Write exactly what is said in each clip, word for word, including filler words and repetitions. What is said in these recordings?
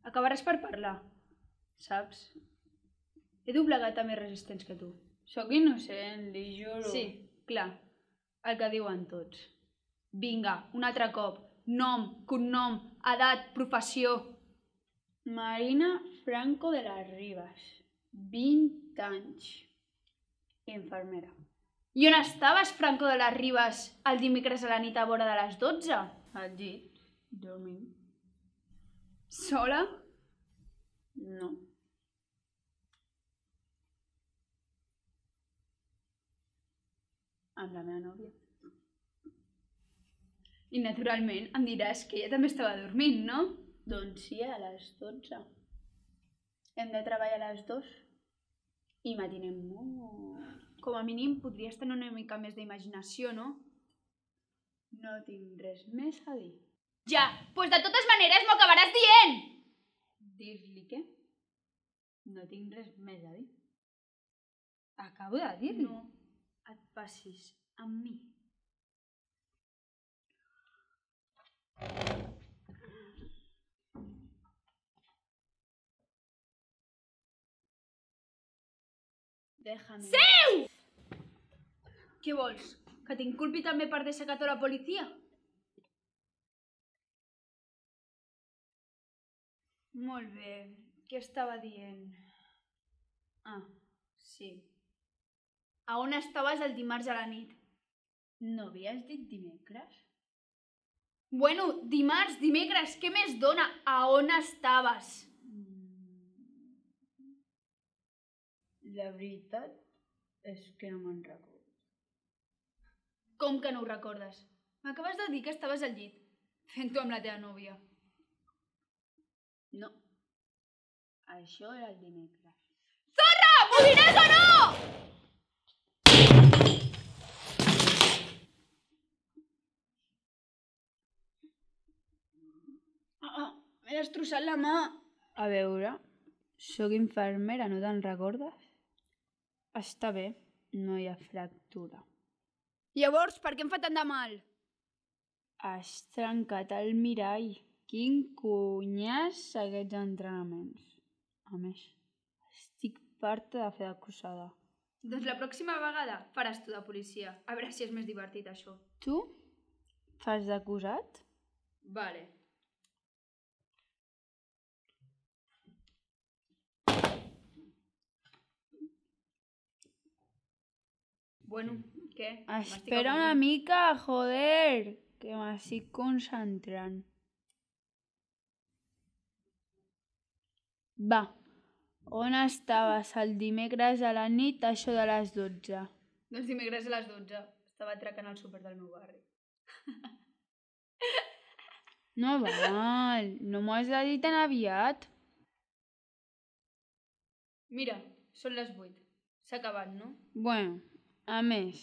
Acabaràs per parlar, saps? He doblegat a més resistents que tu. Sóc innocent, li juro. Sí, clar, el que diuen tots. Vinga, un altre cop. Nom, cognom, edat, professió. Marina Franco de las Rivas, vint anys. Infermera. I on estaves, Franco de les Ribes, el dimecres a la nit a vora de les dotze? Al llit, dormint. Sola? No. Amb la meva nòvia. I naturalment em diràs que ella també estava dormint, no? Doncs sí, a les dotze. Hem de treballar a les dos i matinem molt. Com a mínim podries tenir una mica més d'imaginació, no? No tinc res més a dir. Ja, doncs de totes maneres m'ho acabaràs dient! Dir-li què? No tinc res més a dir. Acabo de dir-li. No et passis amb mi. Déjame. Seu! Què vols? Que t'inculpi també per desacato a la policia? Molt bé. Què estava dient? Ah, sí. A on estaves el dimarts a la nit? No havies dit dimecres? Bueno, dimarts, dimecres, què més dona? A on estaves? La veritat és que no me'n recordo. Com que no ho recordes? M'acabes de dir que estaves al llit, fent-ho amb la teva nòvia. No. Això era el dimecres. Zorra! M'ho diràs o no? Ah, ah, m'he destrossat la mà. A veure, sóc infermera, no te'n recordes? Està bé, no hi ha fractura. Llavors, per què em fa tant de mal? Has trencat el mirall. Quin cunyàs aquests entrenaments. A més, estic farta de fer d'acusada. Doncs la pròxima vegada faràs tu de policia. A veure si és més divertit, això. Tu? Fas d'acusat? Vale. Bueno, què? Espera una mica, joder, que m'estic concentrant. Va, on estaves el dimecres a la nit, això de les dotze? Doncs dimecres a les dotze. Estava atracant al súper del meu barri. No val, no m'ho has de dir tan aviat. Mira, són les vuit. S'ha acabat, no? Bueno, a més,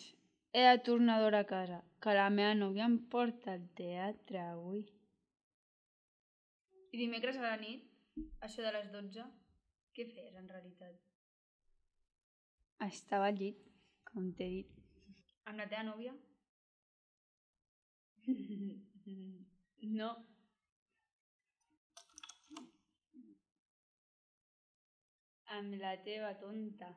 he de tornar d'hora a casa, que la meva nòvia em porta al teatre avui. I dimecres a la nit, això de les dotze, què feies en realitat? Estava al llit, com t'he dit. Amb la teva nòvia? No. Amb la teva tonta.